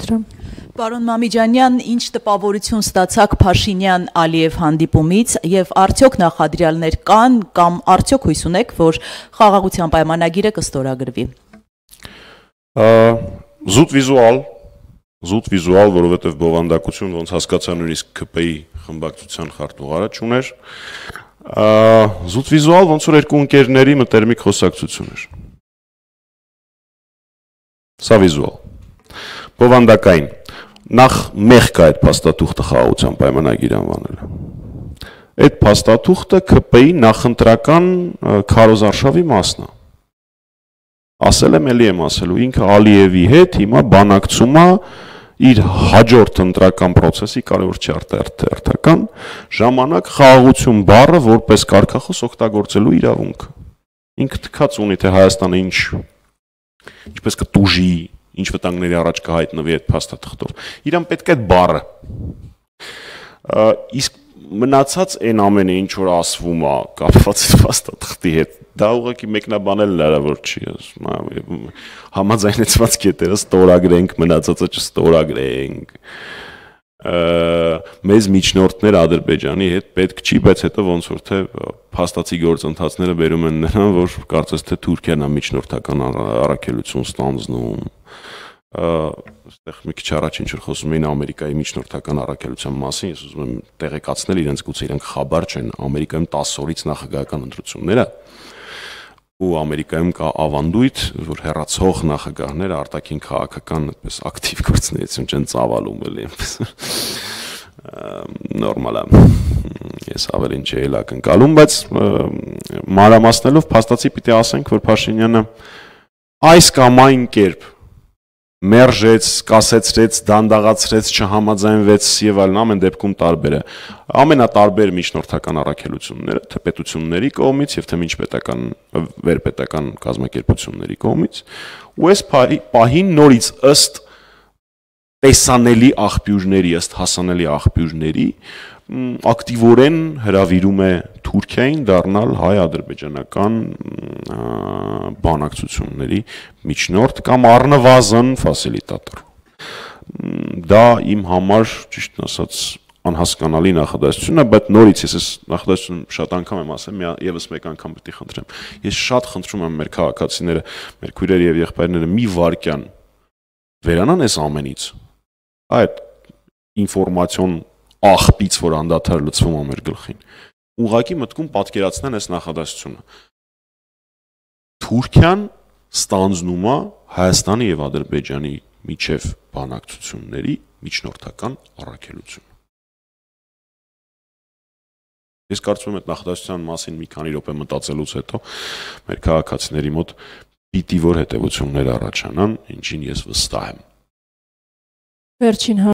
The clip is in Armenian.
Խնդրեմ։ Պարոն Մամիջանյան, ինչ տպավորություն ստացաք Փաշինյան-Ալիև հանդիպումից եւ արդյոք նախադրյալներ կան կամ արդյոք հույս ունեք, որ խաղաղության պայմանագիրը կստորագրվի։ Զուտ վիզուալ, որովհետեւ բովանդակություն ոնց հասկացա նույնիսկ ԿՊ-ի խմբակցության խարտուղարը չուներ։ Զուտ վիզուալ ոնց որ երկու ընկերների մտերմիկ խոսակցություն էր։ Սա վիզուալ։ Բովանդակային։ Նախ մեղք է այդ փաստաթուղթը խաղաղության պայմանագիր անվանելը։ Այդ փաստաթուղթը ԿՊ-ի նախընտրական քարոզարշավի մասն է։ Ասել եմ, էլի եմ ասելու, ինքը Ալիևի հետ հիմա բանակցում է իր հաջորդ ընտրական process-ի կարևոր չարտարական ժամանակ խաղաղություն բառը որպես կարգախոս օգտագործելու իրավունք։ Ինքը թքած ունի թե Հայաստանը ինչպես կտուժի, ինչ վտանգների առաջ կհայտնվի այդ փաստաթղթով։ Իրան պետք է այդ բառը։ Իսկ մնացած այն ամենը ինչ որ ասվում է կապված այդ փաստաթղթի հետ, դա ուղղակի մեկնաբանել հնարավոր չի։ Համաձայնեցված կետերը ստորագրենք, մնացածը չստորագրենք։ Մեզ միջնորդներ Ադրբեջանի հետ պետք չի, բայց հետո ոնց որ թե փաստացի գործընթացները բերում են նրան, որ կարծես թե Թուրքիան է միջնորդական առաքելություն ստանձնում։ Այստեղ մի քիչ առաջ ինչ որ խոսում էին Ամերիկայի միջնորդական առաքելության մասին, ես ուզում եմ տեղեկացնել իրենց, գուցե իրենք խաբար չեն, Ամերիկայում 10 օրից նախագահական ընտրություններ է ու Ամերիկայում կա ավանդույթ, որ հեռացող նախագահները արտաքին քաղաքական այդպես ակտիվ գործունեություն չեն ծավալում էլի այնպես նորմալ է։ Ես ավելին չէի ակնկալում, բայց մանրամասնելով փաստացի պիտի ասենք, որ Փաշինյանը այս կամ այն կերպ մերժեց, կասեցրեց, դանդաղացրեց, չհամաձայնվեց եւ այլն, ամեն դեպքում տարբեր է։ Ամենատարբեր միջնորդական առաքելությունները թե պետությունների կողմից եւ թե միջպետական վերպետական կազմակերպությունների կողմից, ու այս պահին նորից ըստ տեսանելի աղբյուրների, ըստ հասանելի աղբյուրների ակտիվորեն հրավիրում է Թուրքիային դառնալ հայ-ադրբեջանական բանակցությունների միջնորդ կամ առնվազն ֆասիլիտատոր։ Դա իմ համար ճիշտ ասած անհասկանալի նախադասություն է, բայց նորից ես այս նախադասությունը շատ անգամ եմ ասել, եւս մեկ անգամ պետք է խնդրեմ։ Ես շատ խնդրում եմ մեր քաղաքացիները, մեր քույրերը եւ եղբայրները մի վարքյան վերանան այս ամենից։ Այդ ինֆորմացիոն աղբից, որ անդադար լցվում է մեր գլխին, ուղղակի մտքում պատկերացնեն այս նախադասությունը։ Թուրքիան ստանձնում է Հայաստանի եւ Ադրբեջանի միջև բանակցությունների միջնորդական առաքելություն։ Ես կարծում եմ այդ նախադասության մասին մի քանի րոպե մտածելուց հետո մեր քաղաքացիների մոտ պիտի որ հետևություններ առաջանան, ինչին ես վստահ եմ։ Վերջին